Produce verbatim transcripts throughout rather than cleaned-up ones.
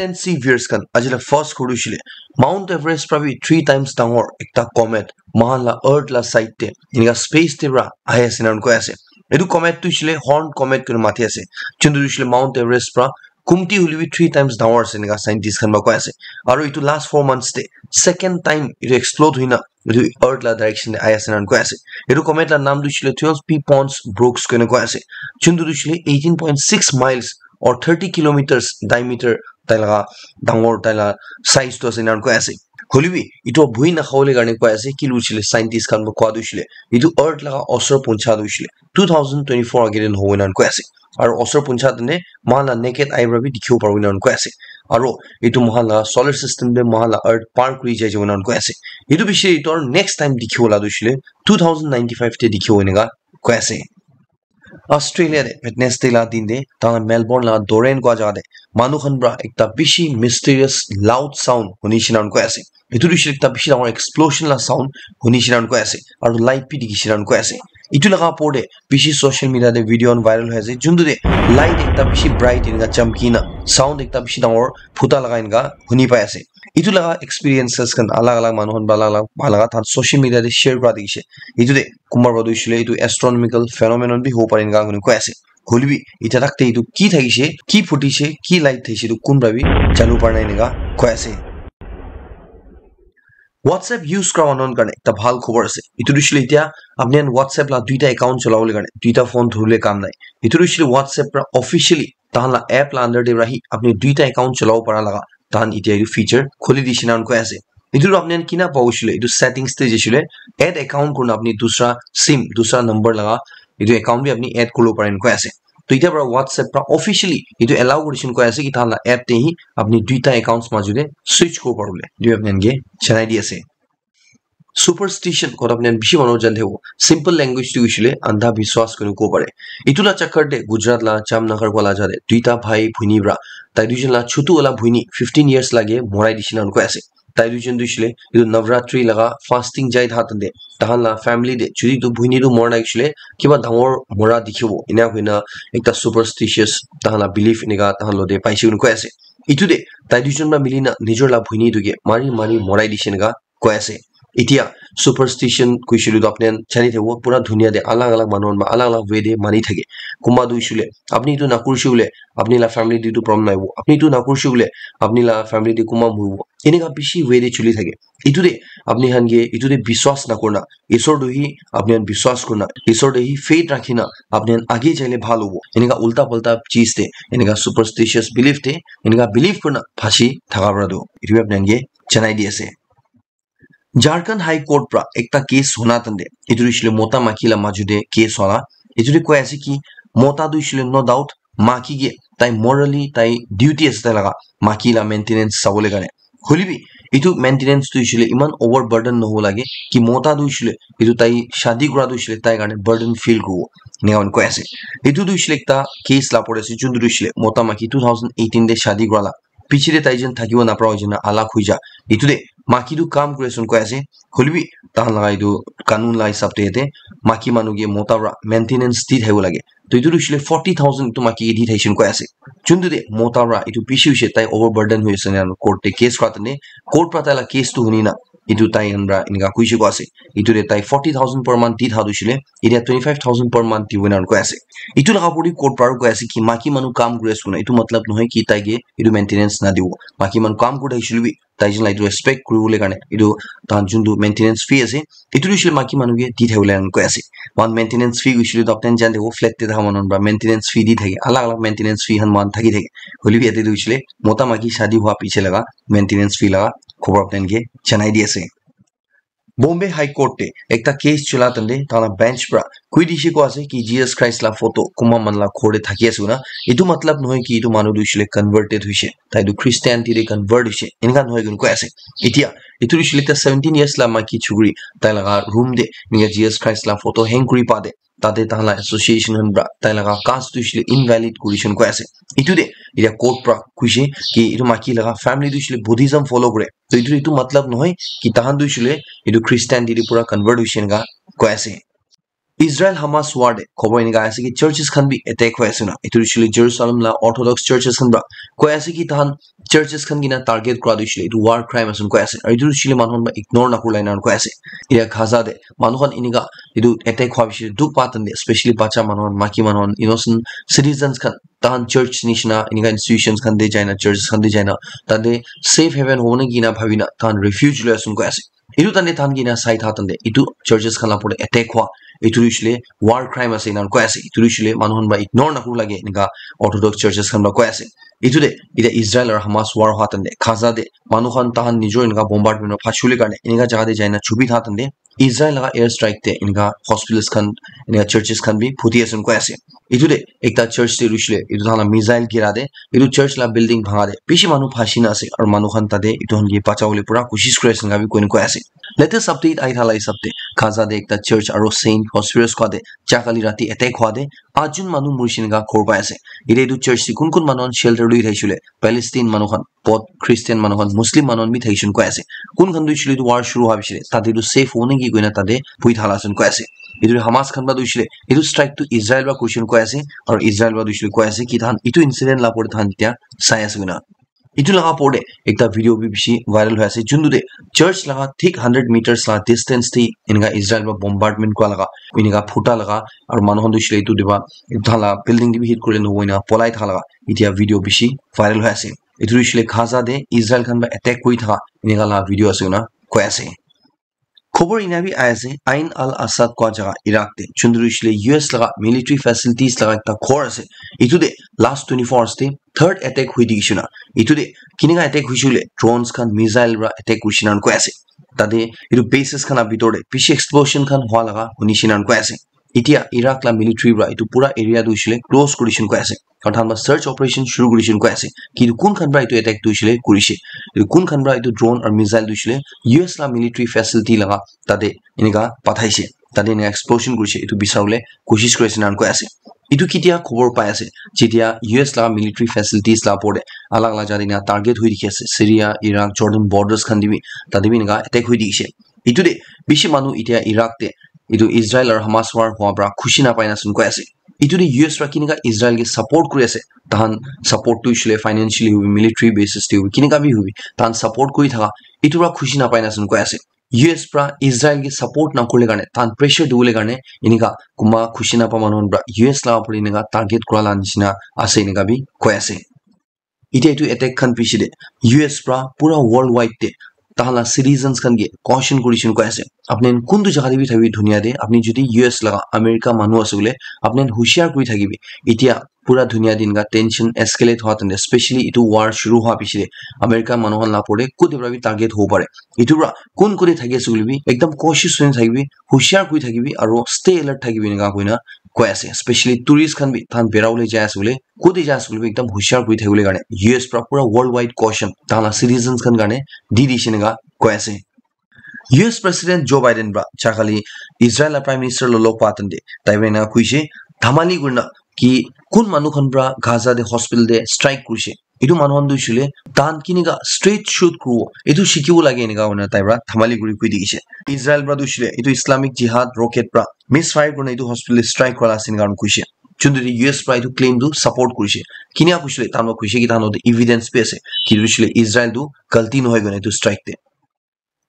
N C viewers khan, aji la first khuru shile, Mount Everest pra bi three times dangor ekta comet mohan la earth la side te, enika space te pra ahi ase na koi ase. Etu comet tu shile horn comet koi mati ase. Chuntu shile Mount Everest pra kumti huli bi three times dangor ase enika scientist khan ba koi ase. Aru etu last four months te second time etu explode huina etu earth la direction te ahi ase na koi ase. Etu comet la naam tu shile twelve P Pons Brooks koi koi ase. Chuntu shile eighteen point six miles or thirty kilometers diameter tai laga dangor tai la size tu ase na koi ase. Hoilebi etu bhui na khawole karne koi ase, ki luchile scientist khan ba koi tu shile etu earth laga osor puncha tu shile two thousand twenty-four agere na hobo na koi ase. Aru osor puncha tene mohan la naked eye para bi dikhibo paribo na koi ase. Aru etu mohan la solar system te mohan la earth par kuri jai jabo na koi ase. Etu bishi etu aru next time dikhibo la tu shile two thousand ninety-five te dikhibo enika koi ase. Australia te Wednesday la din te tahan Melbourne la Doreen koi jaga te manu khan pra ekta bishi mysterious loud sound huni shina koi ase. Etu tu ekta bishi dangor explosion la sound huni shina koi ase. Aru light bi dikhi shina koi ase. Etu laga opor te bishi social media te video khan viral hoi ase. Juntu te light ekta bishi bright enika chamki na sound ekta bishi dangor phuta laga enika huni pai ase. Etu laga experiences khan alag alag manu khan ba alag alag bhal laga tahan social media te share kura dikhi ase. Etu te kumba para tu hoishe koile etu astronomical phenomenon bi hobo pare enika koi kena koi ase. Hoile bi itya tak te etu ki thakishe, ki phutise, ki light thakishe etu kun para bi janibo para nai enika koi ase. WhatsApp use kura manu khan karne ekta bhal khobor ase. Etu tu hoishe koile itya apni khan WhatsApp la duita account cholabole karne, duita phone dhuribole kam nai. Etu tu hoishe koile WhatsApp para officially tahan la app la under te para hi apni duita account cholabo para laga tahan itya etu feature khuli dishe na koi ase. Etu tu apni khan kina pabo hoishe koile etu settings te jaishe koile add account kurina apni dusra sim, dusra number laga etu account bi apni add kuribo pare koi ase. To itya para WhatsApp para officially etu allow kurishe koi ase ki tahan la app te hi apni duita accounts majo te switch kuribo paribole etu apni khan ke janai di ase. Superstition kotha apni khan bishi manu jani thakibo. Simple language te hoishe koile andha biswas koi kena kobo pare. Etu la chakar te Gujarat la Jamnagar wala jaga te duita bhai bhuni para tai duijon la chutu wala bhuni fifteen years lage morai dishe na koi ase. Tai duijon tu hoishe koile etu Navratri laga fasting jai thakan te tahan la family te jodi etu bhuni tu mora nai hoishe koile kiba dangor mora dikhibo ena koina ekta superstitious tahan la belief enika tahan logote paishe koina koi ase. Etu te tai duijon para mili na nijor la bhuni tu ke mari mari morai dishe enika koi ase. Itya superstition koishe koile tu apni khan jani thakibo pura dunia te alag alag manu khan para alag alag way te mani thake. Kunba tu hoishe koile apni etu nakurishe koile apni la family te etu problem nahibo. Apni etu nakurishe koile apni la family te kunba moribo. Enika bishi way te choli thake. Etu te apni khan ke etu te biswas nakurina, Isor tu hi apni khan biswas kurina, Isor te hi faith rakhina apni khan age jaile bhal hobo. Enika ulta palta cheez te, enika superstitious belief te, enika belief kurina phasi thaka para tu etu bi apni khan ke janai di ase. Jharkhand High Court pra ekta case huna tante, etu tu hoishe koile mota maiki la majo te case wala, etu te koi ase ki mota tu hoishe koile no doubt maiki ke tai morally tai duty ase tai laga maiki la maintenance sabole karne. Hoile bi etu maintenance tu hoishe koile eman overburden nohobo lage ki mota tu hoishe koile etu tai shadi kura tu hoishe koile tai karne burden feel kuribo, enika koi ase. Etu tu hoishe koile ekta case la opor te ase, jun tu hoishe koile mota maiki two thousand eighteen te shadi kura la piche te tai jon thakibo napara hoi jana alak hoi ja. Etu te maiki tu kam kuri ase koi ase, hoile bi tahan laga etu kanun la hisab te yate maiki manu ke mota para maintenance di thakibo lage. To etu tu hoishe koile forty thousand etu maiki ke di thakishe koi ase. Juntu te mota para etu bishi hoishe tai overburden hoi ase na court te case kura tene court para tai la case tu huni na etu tai khan para enika koishe koi ase. Etu te tai forty thousand per month di tha tu hoishe koile etia twenty five thousand per month dibo na koi ase. Etu laga opor te court para koi ase ki maiki manu kam kuri ase koina etu matlab nohoi ki tai ke etu maintenance na dibo. Maiki manu kam kuri thakishe koile bi tai jon la etu respect kuribole karne etu tahan juntu maintenance fee ase etu tu hoishe koile maiki manu ke di thakibole koi ase. Mohan maintenance fee hoishe koile tu apni khan jani thakibo flat te thaka manu khan para maintenance fee di thake, alag alag maintenance fee khan mohan thaki thake. Hoile bi yate tu hoishe koile mota maiki shadi hua piche laga maintenance fee laga khobor apni khan ke janai di ase. Bombay High Court te ekta case chola tante tahan la bench pra koi dishe koi ase ki Jesus Christ la photo kunba manu la ghor te thaki ase koina. Etu matlab nohoi ki etu manu tu hoishe koile converted hoishe, tai tu Christianity te convert hoishe, enika nohoi koina koi ase. Etia etu hoishe koile ekta seventeen years la maiki chukri tai laga room te enika Jesus Christ la photo hang kuri pa te tate tahan la association khan pra tai laga cast tu hoishe koile invalid kuri shina koi ase. Etu te etia court pra koishe ki etu maiki laga family tu hoishe koile Buddhism follow kure. To etu, etu matlab nohoi ki tahan tu hoishe koile etu Christianity te pura convert hoishe enika koi ase. Israel Hamas war te khobor enika ase ki churches khan bi attack hoi ase na. Etu hoishe le Jerusalem la Orthodox churches khan pra koi ase ki tahan churches khan kina target kura tu hoishe le etu war crime ase na koi ase. Aru etu hoishe le manu khan pra ignore na kurila ena koi ase. Iya Gaza te manu khan enika etu attack hwa bishi dukh pa tante, especially bacha manu khan, maki manu khan, innocent citizens khan, tahan church nishina enika institutions khan te jaina, churches khan te jaina, tate safe haven hobo na kina bhabina tahan refuge loi ase na koi ase. Etu tante tahan kina sai tha tante etu churches khan la opor te attack hwa etu hoishe le war crime ase ena koi ase. Etu hoishe le manu khan pra ignore na kuru lage enika Orthodox churches khan pra koi ase. Etu te eta Israel aru Hamas war hwa tante Gaza te manu khan tahan nijor enika bombardment pra phachi bole karne enika jaga te jaina chubi tha tante Israel laga air strike te enika hospitals khan, enika churches khan bi phuti ase na koi ase. Etu te ekta church te hoishe le etu tahan la missile gira te etu church la building bhanga te bishi manu phachi na ase aru manu khan tate etu khan ke bacha bole pura koshish kuri ase enika bi koi na koi ase. Latest update ahi thala hisab te Gaza te ekta church aru Saint Hospitals koi te ja kali rati attack hwa te atjun manu murishe enika khobor pai ase. Ete etu church te kun kun manu khan shelter lui thakishe le Palestine manu khan, both Christian manu khan, Muslim manu khan bi thakishe na koi ase. Kun khan tu hoishe le etu war shuru hwa bishi le tate tu safe hobo na ki koi na tate bui thala ase na koi ase. Etu Hamas khan pra tu hoishe le etu strike tu Israel pra kurishe na koi ase, aru Israel pra tu hoishe le koi ase ki tahan etu incident la opor te tahan etia sai ase koi na. Etu laga opor te ekta video bi bishi viral hoi ase, juntu te church laga thik hundred meters la distance te enika Israel pra bombardment kura laga enika phuta laga aru manu khan tu hoishe le etu te pra etu tahan la building te bi hit kuri le nohoi na polai tha laga etia video bishi viral hoi ase. Etu hoishe le Gaza te Israel khan pra attack kuri thaka enika la video ase koi na koi ase. Khobor ena bi ahi ase, Ain al-Asad koi jaga Iraq te, juntu hoishe le U S laga military facilities laga ekta ghor ase. Etu te last twenty-four hours te third attack hoi dikhi shina. Etu te kinika attack hoishe le drones khan, missile pra attack kurishe na koi ase. Tate etu bases khan la bitor te bishi explosion khan hwa laga hunishe na koi ase. Etia Iraq la military pra etu pura area tu hoishe le close kurishe na koi ase. Aru tahan pra search operation shuru kurishe na koi ase. Ki etu kun khan pra etu attack tu hoishe le kurishe. Etu kun khan pra etu drone aru missile tu hoishe le U S la military facility laga tate enika pathaishe. Tate enika explosion kurishe. Etu bisabole koshish kuri ase na koi ase. Etu ketia khobor pai ase? Jetia U S laga military facilities la opor te alag alag jaga te enika target hoi dikhi ase. Syria, Iraq, Jordan borders khan te bi, tate bi enika attack hoi dikhi ase. Etu te bishi manu etia Iraq te etu Israel aru Hamas war hwa pra khushi na pai na ase na koi ase. Etu te U S pra kinika Israel ke support kuri ase. Tahan support tu hoishe le financially hobi, military basis te hobi, kinika bi hobi. Tahan support kuri thaka etu pra khushi na pai na ase na koi ase. U S pra Israel ke support na kurle karne, tahan pressure dibole karne enika kunba khushi na pa manu khan pra U S la opor te enika target kura la nishina ase enika bi koi ase. Etia etu attack khan piche te U S pra pura worldwide te tahan la citizens khan ke caution kurishe na koi ase. Apni khan kuntu jaga te bi thakibi dunia te, apni jodi U S laga America manu ase bole, apni khan hushiar kuri thakibi. Etia pura dunia te enika tension escalate hwa tante, especially etu war shuru hwa piche te America manu khan la opor te kute pra bi target hobo pare. Etu pra kun kute thaki ase bole bi ekdam cautious hoi na thakibi, hushiar kuri thakibi, aru stay alert thakibi enika koi na koi ase. Especially tourist khan bi tahan bera bole jai ase bole, kute jai ase koile bi ekdam hushiar kuri thakibole karne U S pra pura worldwide caution tahan la citizens khan karne di dishe enika koi ase. U S President Joe Biden pra jakali Israel la Prime Minister lo log pa tante tai pra enika koishe, dhamali kurina ki kun manu khan pra Gaza te hospital te strike kurishe, etu manu khan tu hoishe le tahan kinika straight shoot kuribo etu shikibo lage enika kurina tai pra dhamali kuri koi dikhishe. Israel pra tu hoishe le etu Islamic Jihad rocket pra misfire kurina etu hospital te strike kura la ase enika kurina koishe. Juntu te U S pra etu claim tu support kurishe. Kinika koishe le tahan pra koishe ki tahan logot te evidence bi ase ki hoishe le Israel tu galti nohoi koina etu strike te.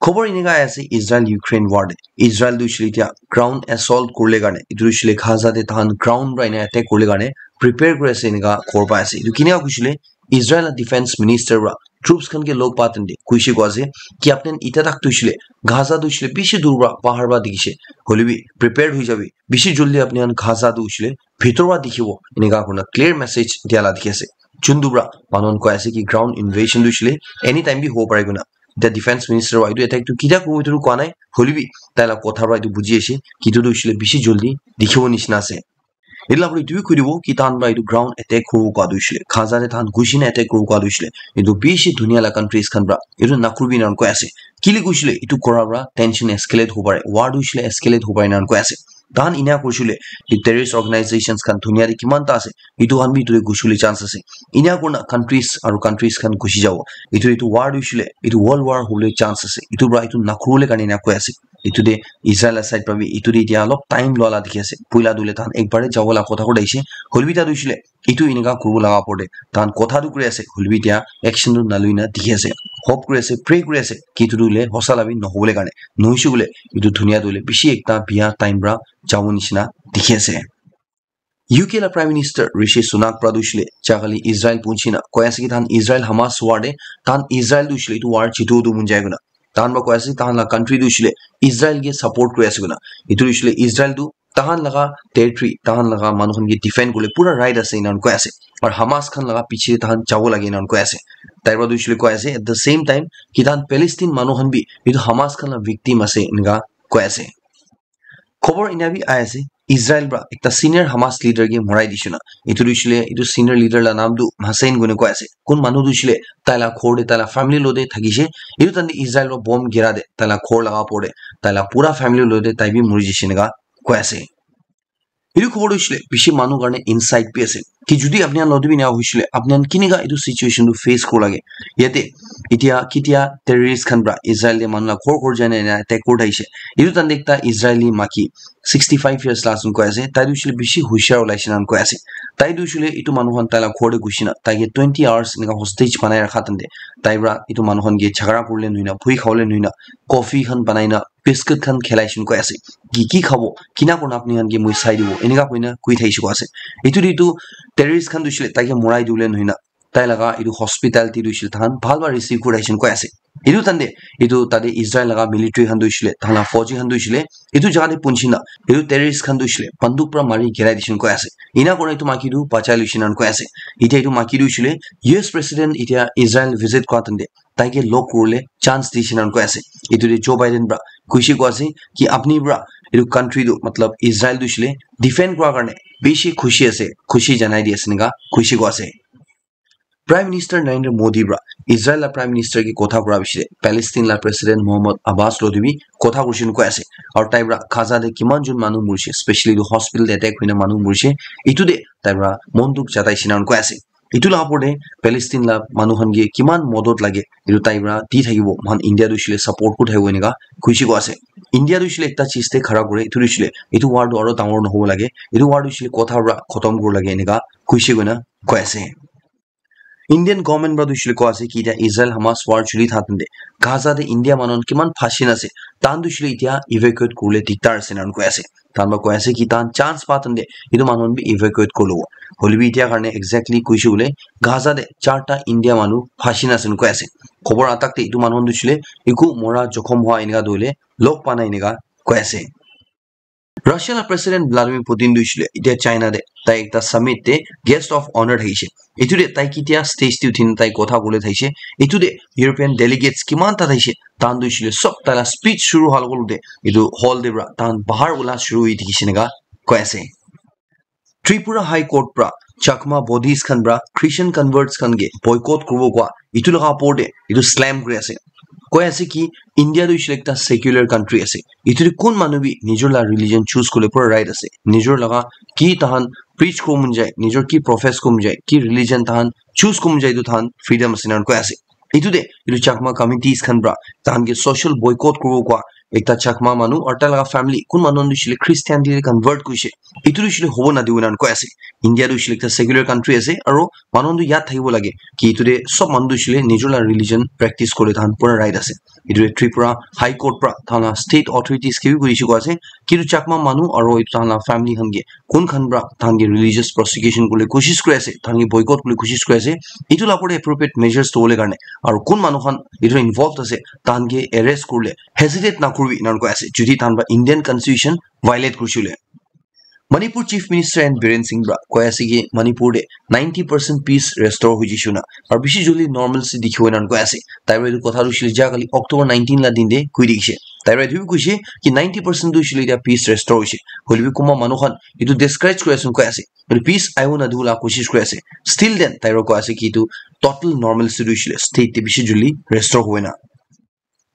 Khobor enika ahi ase Israel Ukraine war te. Israel tu hoishe le etia ground assault kuribole karne, etu hoishe le Gaza te tahan ground pra ena attack kuribole karne prepare kuri ase enika khobor pai ase. Etu kinika koishe le Israel la defense minister pra troops khan ke log pa tante koishe koi ase ki apni khan etia tak tu hoishe le Gaza tu hoishe le bishi dur pra bahar pra dikhishe. Hoile bi prepared hoi jabi. Bishi joldi apni khan Gaza tu hoishe le bhitor pra dikhibo. Enika kurina clear message dia la dikhi ase. Juntu pra manu khan koi ase ki ground invasion tu hoishe le anytime bi hobo pare koina. Etia defense minister pra etu attack tu ketia kuribo etu tu koa nai. Hoile bi tai la kotha pra etu buji ase ki etu tu hoishe le bishi joldi dikhibo nishina ase. Etu la pore etu bi koi dibo ki tahan pra etu ground attack kuribo koa tu hoishe le, Gaza te tahan ghushi na attack kuribo koa tu hoishe le, etu bishi dunia la countries khan pra etu nakuribi enika koi ase. Kile koishe le etu kora pra tension escalate hobo pare, war tu hoishe le escalate hobo pare enika koi ase. Tahan ina kurisile, etu terrorist organizations khan dunia te kiman ta ase, etu khan bi etu te gusibole chance ase. Ina kurina countries aru countries khan gusi jabo. Etu, etu war tu hoisile, etu world war hobole chance ase. Etu pra etu nakuribole karne ina koi ase. Etu te Israel la side pra bi etu te etia olop time loa la dikhi ase. Puila tu hoile tahan ekbar te jabo la kotha koi thakishe. Hoilebi ta tu hoisile, etu enika kuribo laga opor te tahan kotha tu kuri ase, hoilebi etia action tu naloi na dikhi ase. Hope kuri ase, pray kuri ase ki etu tu hoile hosa la bi nohobole karne. Nohoise koile etu dunia tu hoile bishi ekta biya time pra jabo nishina dikhi ase. U K la Prime Minister Rishi Sunak pra tu hoisile, ja kali Israel punchi na koi ase ki tahan Israel Hamas war te, tahan Israel tu hoisile etu war jitu tu mun jai koina. Tahan pra koi ase, tahan la country tu hoisile Israel ke support kuri ase koina. Etu hoisile Israel tu tahan laga territory, tahan laga manu khan ke defend kuribole pura right ase, ena koi ase. Aru Hamas khan laga piche tahan jabo lage, ena koi ase. Tai pra tu hoisile koi ase, at the same time, ki tahan Palestine manu khan bi etu Hamas khan la victim ase, eneka koi ase. Khobor ena bi ahi ase, Israel pra ekta senior Hamas leader ke morai dishe na. Etu tu hoisile, etu senior leader la naam tu Hussein koina koi ase. Kun manu tu hoisile, tai la ghor te, tai la family lo te thakishe. Etu time te Israel pra bomb gira te, tai la ghor laga opor te, tai la pura family lo te tai bi mori jishe eneka koi ase. Etu khobor tu hoisile bishi manu karne insight bi ase. Ki jodi apni khan lode bi ena hoisile, apni khan kineka etu situation tu face kori lage. Yate, etia, ketia terrorist khan pra Israel te manu la ghor ghor jai na ena attack kori thakishe. Etu time te ekta Israeli maki, sixty five years la ase koi ase. Tai tu hoisile bishi hushiar olaishe na koi ase. Tai tu hoisile etu manu khan tai la ghor te gushi na, tai ke twenty hours eneka hostage banai rakha time te, tai pra etu manu khan ke jhagara kurile nohoi na, bhui khawole nohoi na, coffee khan banai na, biscuit khan khilai shey koi ase. Ki ki khabo, kina kurina apni khan ke moi sai dibo, eneka koina koi thakishe koi ase. Etu te etu terrorist khan tu hoisile tai ke morai dibole nohoi na, tai laga etu hospitality tu hoisile tahan bhal para receive kuri ase koi ase. Etu time te, etu tate Israel laga military khan tu hoisile, tahan la fauji khan tu hoisile, etu jaga te punchi na, etu terrorist khan tu hoisile banduk para mari girai dishe koi ase. Ena kurina etu maki tu bachai loishe na koi ase. Etia etu maki tu hoisile, U S president etia Israel visit kura time te, tai ke log kuribole chance dishe na koi ase. Etu te Joe Biden para koishe koi ase ki apni para etu country tu, matlab Israel tu hoisile defend kura karne bishi khushi ase, khushi janai di ase eneka koishe koi ase. Prime Minister Narendra Modi para Israel la Prime Minister ke kotha kura bishi de Palestine la President Mahmoud Abbas lo de bi kotha kurishe koi ase. Aru tai para Gaza te kiman jon manu morishe, specially etu hospital te attack hoina manu morishe, etu te tai para mon dukh jataishe na koi ase. Etu la opor te Palestine la manu khan ke kiman modot lage, etu tai para di thakibo, moikhan India tu hoishe le support kuri thakibo eneka koishe koi ase. India tu hoishe le ekta cheez te khara kure, etu tu hoishe le etu war tu aro dangor nohobo lage, etu war tu hoishe le kotha para khotom kuribo lage eneka koishe koina koi ase. Indian government para tu hoishe le koi ase ki etia Israel Hamas war choli thaka time te Gaza te India manu khan kiman phansi na ase, tahan tu hoishe le etia evacuate kuribole diktar ase ena koi ase. Tahan para koi ase ki tahan chance pa time te etu manu khan bi evacuate kuri lobo. Hoile bi etia karne exactly koishe koile Gaza te charta India manu phansi na ase ena koi ase. Khobor atak te etu manu khan tu hoishe le eku mora jokhom hua eneka tu hoile log pa nai eneka koi ase. Russia la President Vladimir Putin tu hoishe le etia China te tai ekta summit te guest of honour thakishe. Etu te tai ketia stage te uthi na tai kotha kobole thakishe. Etu te European delegates kiman ta thakishe. Tahan tu hoishe le sob tai la speech shuru hua logol te etu hall te para tahan bahar ula shuru hoi thakishe eneka koi ase. Tripura High Court para Chakma Buddhist khan para Christian converts khan ke boycott kuribo koa etu laga opor te etu slam kuri ase. Koi ase ki India tu hoishe le ekta secular country ase. Etu te kun manu bi nijor la religion choose kuribole pura right ase. Nijor laga ki tahan preach kuribo mon jai, nijor ki profess kuribo mon jai, ki religion tahan choose kuribo mon jai, etu tahan freedom ase ena koi ase. Etu te etu Chakma communities khan para tahan ke social boycott kuribo koa ekta Chakma manu aru tai laga family kun manu khan tu hoishe le Christianity te convert kurishe. Etu tu hoishe le hobo nadibo ena koi ase. India tu hoishe le ekta secular country ase aru manu khan tu yad thakibo lage ki etu te sob manu tu hoishe le nijor la religion practice kuribole tahan pura right ase. Etu te Tripura High Court para tahan la state authorities ke bi koishe koi ase ki etu Chakma manu aru etu tahan la family khan ke kun khan para tahan ke religious persecution kuribole koshish kuri ase, tahan ke boycott kuribole koshish kuri ase, etu la opor te appropriate measures lobole karne aru kun manu khan etu involved ase tahan ke arrest kuribole hesitate nakuribi ena koi ase jodi tahan para Indian constitution violate kurishe koile. Manipur Chief Minister N Biren Singh para koi ase ki Manipur te ninety percent peace restore hoi jishe na aru bishi joldi normalcy dikhibo ena koi ase. Tai para etu kotha tu hoishe le ja kali October nineteen la din te koi dikhishe. Tai para etu bi koishe ki ninety percent tu hoishe le etia peace restore hoishe. Hoile bi kunba manu khan etu discourage kuri ase koi ase. Hoile peace ahibo nadibo la koshish kuri ase. Still then tai para koi ase ki etu total normalcy tu hoishe le state te bishi joldi restore hobo ena.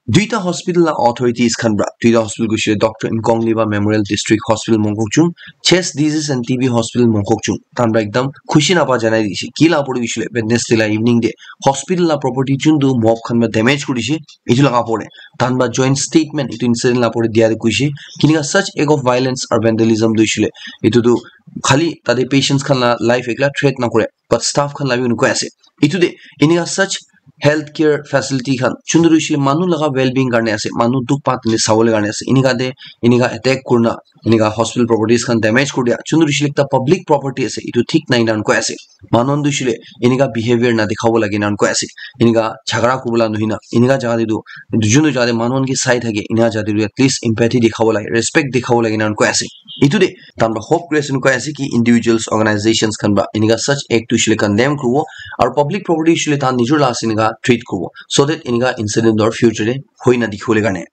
Duita hospital la authorities khan pra, duita hospital kuishe Doctor Nkongliba Memorial District Hospital Mongkokchung, Chest Disease and T B Hospital Mongkokchung, tan pra ekdam khushi napa janai dishe. Ki la pore kuishe Wednesday la evening de hospital la property chundu mob khan pra damage kurishe, itu laga pore tan pra joint statement itu incident la pore dia kuishe, kinika such act of violence or vandalism tu ishile itu tu khali tate patients khan la life ekla threat na kore, but staff khan la bi unukoi ase. Itu de inika such healthcare facility khan chundu ishile manu laga well-being karne ase, manu dukh pa tene sawole karne ase. Inika de inika attack kurna inika hospital properties khan damage kuri dia chundu ishile ekta public property ase, itu thik nai nan koi ase. Manu tu ishile inika behavior na dikhabo lage nan koi ase. Inika jhagara kubula nuhina inika jaga de tu junu jaga de manu ki sai thake inika jaga de at least empathy dikhabo lage, respect dikhabo lage nan koi ase. Itu de tan pra hope kuri ase koi ase ki individuals, organizations khan pra inika such act tu ishile condemn kuribo aru public property ishile tan nijor la ase inika treat kuribo, so that inika incident or future de hoi na dikhibole karne.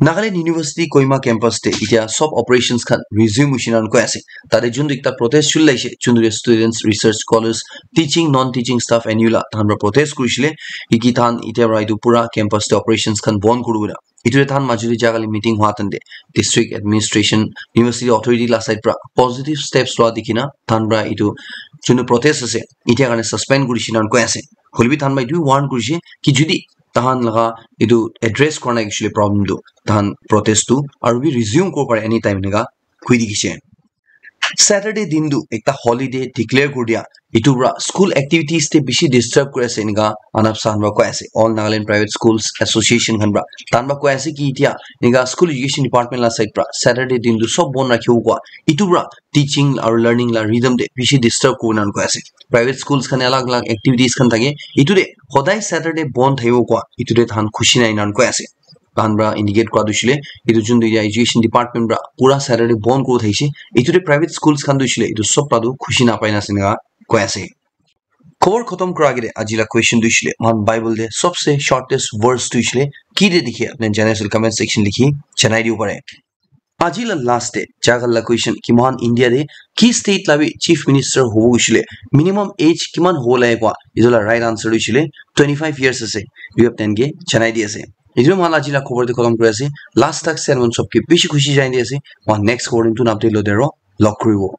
Nagaland University Kohima campus te itia sob operations khan resume hoishe nan koi ase. Tate juntu ekta protest chuli laishe, juntu students, research scholars, teaching, non-teaching staff, N U la tahan pra protest kurishile. Iki tahan itia pra itu pura campus te operations khan bon kuribo na. Itu tahan majuli jaga le meeting hua tante district administration, university authority la side pra positive steps lua dikhina tahan pra itu juntu protest ase itia karne suspend kurishe nan koi ase. Hoilebi tahan pra itu warn kurishe ki judi tahan laga itu address kora nai kishile problem tu tahan protest tu aru bi resume kora pare anytime enika koi dikhishe. Saturday din tu ekta holiday declare kuri dia, itu pra school activities te bishi disturb kuri ase enika Anap Sahan pra koi ase, All Nagaland Private Schools Association khan pra tahan pra koi ase ki itia enika school education department la side pra Saturday din tu sob bon rakhibo koi, itu pra teaching aru learning la rhythm te bishi disturb kuri nan koi ase. Private schools khan alag alag activities khan thake, itu de hodai Saturday bon thakibo koi itu de tahan khushi nai nan koi ase. Tahan pra indicate kura tu ishile itu juntu ya education department pra pura Saturday bon kuri thaishe, itu de private schools khan tu ishile itu sob pra tu khushi napai na ase enika koi ase. Khobor khotom kura age de aji la question tu ishile mohan Bible de sobse shortest verse tu ishile ki de dikhe apni janai ase comment section likhi janai dibo pare. Aji la last de jagal la question ki mohan India de ki state la bi chief minister hobo ishile minimum age kiman hobo lage koi itu la right answer tu ishile twenty five years ase. Itu apni ke janai di ase. Itu mohan aji la khobor de khotom kuri ase. Last tak sermon sob ke bishi khushi janai di ase. Mohan next khobor din tu napte lo dero log kuribo.